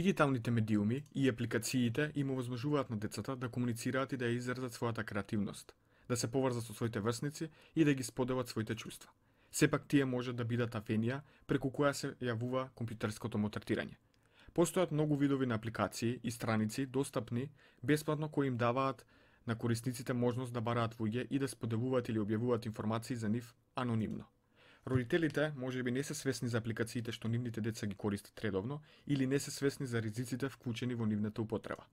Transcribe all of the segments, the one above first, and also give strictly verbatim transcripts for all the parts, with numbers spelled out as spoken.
Дигиталните медиуми и апликациите им овозможуваат на децата да комуницираат и да ја изразат својата креативност, да се поврзат со своите врсници и да ги споделат своите чувства. Сепак тие може да бидат авенија преку која се јавува компјутерското мотретирање. Постојат многу видови на апликации и страници достапни бесплатно кои им даваат на корисниците можност да бараат луѓе и да споделуваат или објавуваат информации за нив анонимно. Родителите можеби не се свесни за апликациите што нивните деца ги користат редовно или не се свесни за ризиците вклучени во нивната употреба.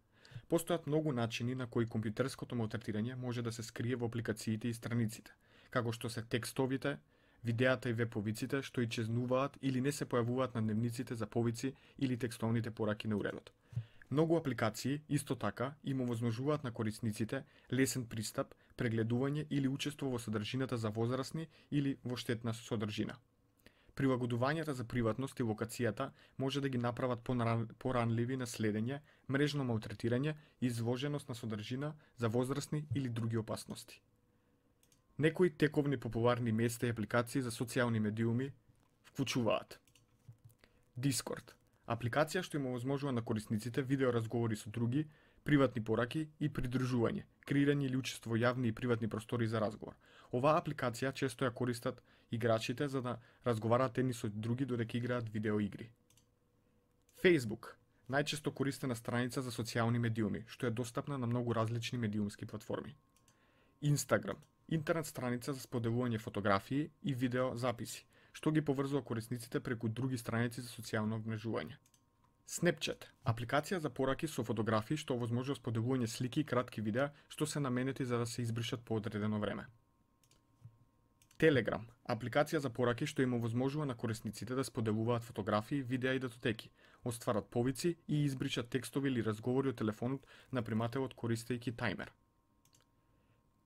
Постојат многу начини на кои компјутерското мотретирање може да се скрие во апликациите и страниците, како што се текстовите, видеата и веб-повиците што и чезнуваат или не се појавуваат на дневниците за повици или текстовните пораки на уредот. Многу апликации, исто така, им овозможуваат на корисниците лесен пристап, прегледување или учество во содржината за возрастни или во штетна содржина. Прилагодувањата за приватност и локацијата може да ги направат поранливи на следење, мрежно малтретирање и изложеност на содржина за возрастни или други опасности. Некои тековни популарни места и апликации за социјални медиуми вклучуваат Discord, апликација што им овозможува на корисниците видеоразговори со други, приватни пораки и придружување, креирање или учество во јавни и приватни простори за разговор. Оваа апликација често ја користат играчите за да разговараат едни со други додека играат видеоигри. Facebook, најчесто користена страница за социјални медиуми, што е достапна на многу различни медиумски платформи. Instagram, интернет страница за споделување фотографии и видео записи, што ги поврзува корисниците преку други страници за социјално вмрежување. Snapchat, апликација за пораки со фотографии што овозможува споделување слики и кратки видеа што се наменети за да се избришат по одредено време. Telegram, апликација за пораки што им овозможува на корисниците да споделуваат фотографии, видеа и датотеки, остварат повици и избришат текстови или разговори од телефонот на примателот користејќи тајмер.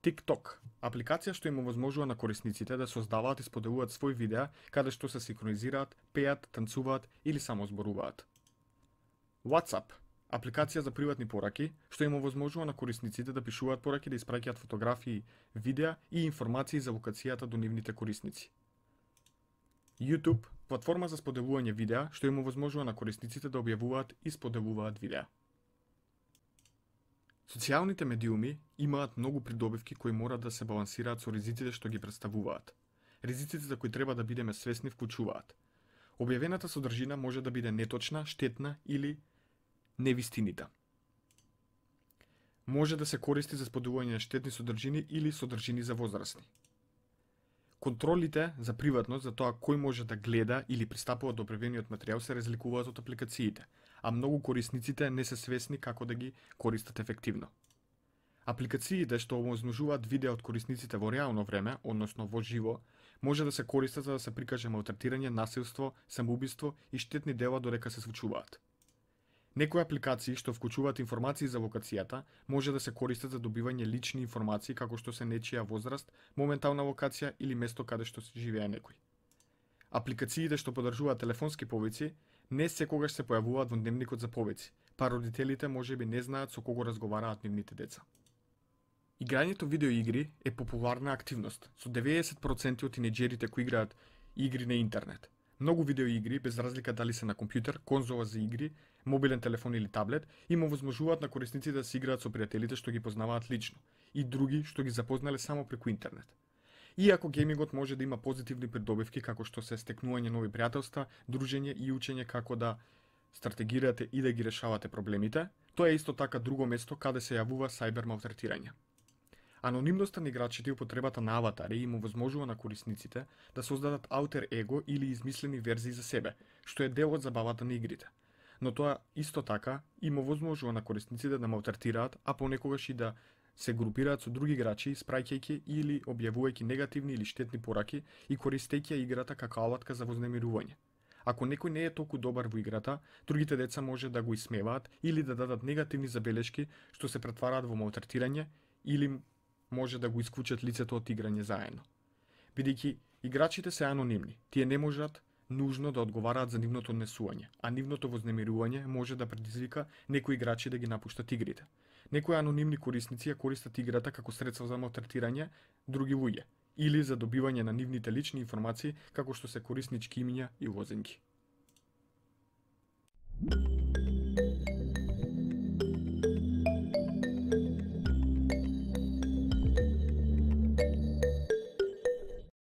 TikTok, апликација што им овозможува на корисниците да создаваат и споделуваат свои видеа каде што се синхронизираат, пеат, танцуваат или само зборуваат. WhatsApp, апликација за приватни пораки што им овозможува на корисниците да пишуваат пораки, да испраќаат фотографии, видеа и информации за локацијата до нивните корисници. YouTube, платформа за споделување видеа што им овозможува на корисниците да објавуваат и споделуваат видеа. Социјалните медиуми имаат многу придобивки кои мора да се балансираат со ризиците што ги представуваат. Ризиците за кои треба да бидеме свесни вклучуваат: објавената содржина може да биде неточна, штетна или невистинита. Може да се користи за споделување на штетни содржини или содржини за возрастни. Контролите за приватност за тоа кој може да гледа или пристапува до објавениот материјал се разликуваат од апликациите, а многу корисниците не се свесни како да ги користат ефективно. Апликациите што овозможуваат видеа од корисниците во реално време, односно во живо, може да се користат за да се прикаже малтретирање, насилство, самоубиство и штетни дела додека се случуваат. Некои апликации што вклучуваат информации за локацијата може да се користат за добивање лични информации како што се нечија возраст, моментална локација или место каде што живее некој. Апликациите што подржуваат телефонски повици не секогаш се појавуваат во дневникот за повици, па родителите можеби не знаат со кого разговараат нивните деца. Играњето видеоигри е популарна активност, со деветдесет проценти од тинеџерите кои играат игри на интернет. Многу видеоигри, без разлика дали се на компјутер, конзола за игри, мобилен телефон или таблет, им овозможуваат на корисниците да се играат со пријателите што ги познаваат лично и други што ги запознале само преку интернет. Иако геймингот може да има позитивни придобивки како што се стекнување нови пријателства, дружење и учење како да стратегирате и да ги решавате проблемите, тоа е исто така друго место каде се јавува сајбер малтретирање. Анонимноста на играчите и употребата на аватари им овозможува на корисниците да создадат аутер его или измислени верзии за себе, што е дел од забавата на игрите. Но тоа исто така им овозможува на корисниците да малтретираат, а понекогаш и да се групираат со други играчи, испраќајќи или објавувајќи негативни или штетни пораки и користејќи играта како алатка за вознемирување. Ако некој не е толку добар во играта, другите деца може да го исмеваат или да дадат негативни забелешки што се претвараат во малтретирање или може да го исклучат лицето од играње заедно. Бидејќи играчите се анонимни, тие не можат нужно да одговараат за нивното однесување, а нивното вознемирување може да предизвика некои играчи да ги напуштат игрите. Некои анонимни корисници ја користат играта како средство за малтретирање други луѓе или за добивање на нивните лични информации како што се кориснички имиња и лозинги.